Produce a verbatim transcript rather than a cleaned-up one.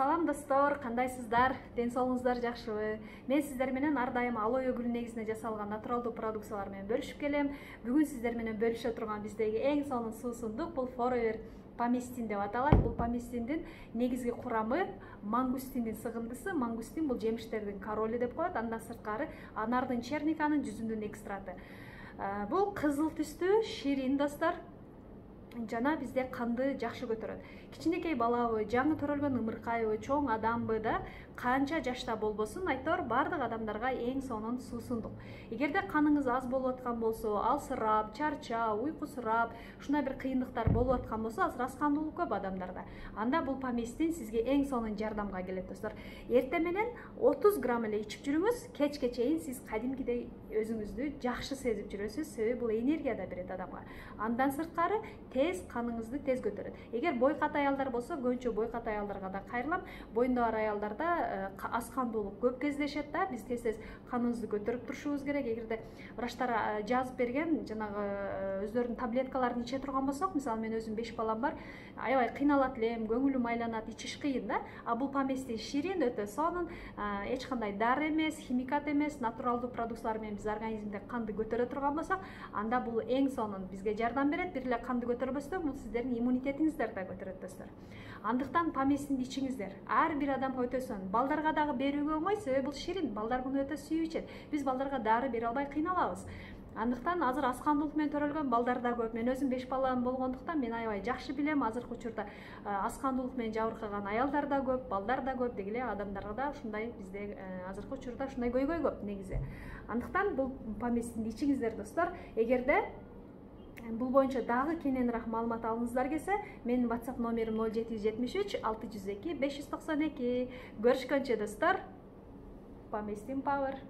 Салам достор, кандайсыздар? Ден соолугуңуздар жакшыбы? Мен сиздер менен ар дайым алоэ гүлү негизинде жасалган натуралдуу продукциялар менен бөлүшүп келем. Бүгүн сиздер менен бөлүшө турган биздеги эң сонун суусундук бул Forever поместин деп аталат. Бул поместиндин негизги курамы мангустиндин сыгындысы. Мангустин бул жемиштердин королу деп коет. Андан сырткары анардын черниканын жүзүнүн экстраты. Бул кызыл түстүү, ширин достор. Жана бизде канды жакшы көтөрөт. Кичинекей балабы, жаңы төрөлгөн ымыркайбы, чоң адамбы да канча жашта болбосун, айтор бардык адамдарга эң сонун суусундук. Эгерде каныңыз аз болуп аткан болсо, алсырап, чарчап, уйкусурап, ушундай бир кыйындыктар болуп аткан болсо, азыр аз кандуулук көп адамдарда. Анда бул поместин сизге эң сонун жардамга келет достор. Эртең менен отуз грамм эле ичип жүрүңүз, кечке чейин сиз кадимкидей өзүңүздү жакшы сезип жүрөсүз, себеби бул энергия да берет адамга. Андан сырткары тез каныңызды тез көтөрөт. Эгер бойкат аялдар болсо, көбүнчө бойкат аялдарга да кайрылам. Боюнда бар аялдарда аз кандуулук көп кездешет да, биз тез-тез каныбызды көтөрүп турушубуз керек. Эгерде врачтар жазып берген жанагы өздөрүнүн таблеткаларын иче турган болсок, мисалы мен өзүм беш балам бар, аябай кыйналат элем, көңүлүм айланат, ичиш кыйын да. А бул поместин ширин, өтө сонун, эч кандай дары эмес, химикат эмес, натуралдуу продукциялар менен биз организмде канды көтөрө турган болсок, анда бул эң сонун бизге жардам берет. Бир эле канды көтөрбөстөн бул сиздердин иммунитетиңиздерди да көтөрөт достор. Андыктан поместинди ичиңиздер. Ар бир адамга өтө сонун. Балдарга дагы берүүгө оңой, себеби бул ширин. Балдар муну өтө сүйүп ичет. Биз балдарга дары бере албай кыйналабыз. Андыктан азыр аз кандуулук менен төрөлгөн балдар да көп. Мен өзүм беш балам болгондуктан мен аябай жакшы билем. Азыркы учурда аз кандуулук менен жабыркаган аялдар да көп, балдар да көп, деги эле адамдарга да ушундай бизде азыркы учурда ушундай көйгөй көп негизи. Андыктан бул поместинди ичиңиздер достор. Эгерде бул боюнча дагы кененирээк маалымат алгыңыздар келсе, менин WhatsApp номерим ноль жети жүз жетимиш үч алты жүз эки беш жүз токсон эки. Көрүшкөнчө достор. Поместин Power.